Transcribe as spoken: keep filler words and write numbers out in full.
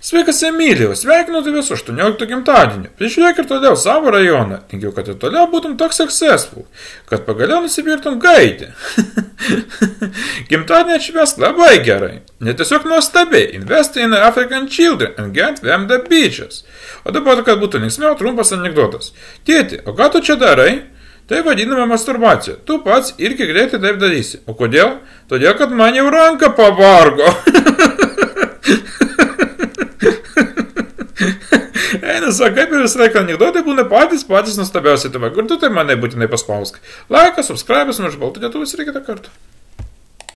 Sveikas Emilijau, sveikinu tave su aštuonioliktu gimtadieniu. Prižiūrėk ir toliau savo rajoną. Tikiu, kad ir toliau būtum toks successful, kad pagaliau nusipirktum gaidį. Gimtadienį atšvęsk labai gerai. Netiesiog nuostabiai. Invest in African children and get them the beaches. O dabar, kad būtų linksmiau, trumpas anekdotas. Tėti, o ką tu čia darai? Tai vadinama masturbacija. Tu pats irgi greitai taip darysi. O kodėl? Todėl, kad man jau ranka pavargo. Eina, sakai, per visą laiką anekdotai būna patys, patys nuostabiausiai tave. Kur tu tai mane būtinai paspausk. Laikas, subscribės, nuo žbaltų lietuvis ir kitą kartą.